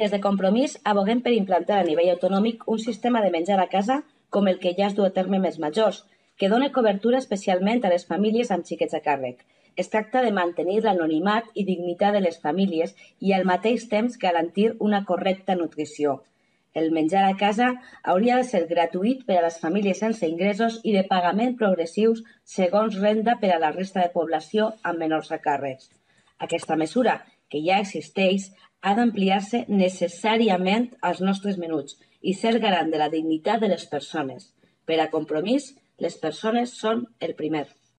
Des de Compromís aboguem per implantar a nivell autonòmic un sistema de menjar a casa com el que ja es du a terme més majors, que dona cobertura especialment a les famílies amb xiquets a càrrec. Es tracta de mantenir l'anonimat i dignitat de les famílies i al mateix temps garantir una correcta nutrició. El menjar a casa hauria de ser gratuït per a les famílies sense ingressos i de pagament progressius segons renda per a la resta de població amb menors a càrrecs. Aquesta mesura, que ja existeix, ha d'ampliar-se necessàriament als nostres menuts i ser garant de la dignitat de les persones. Per a Compromís, les persones són el primer.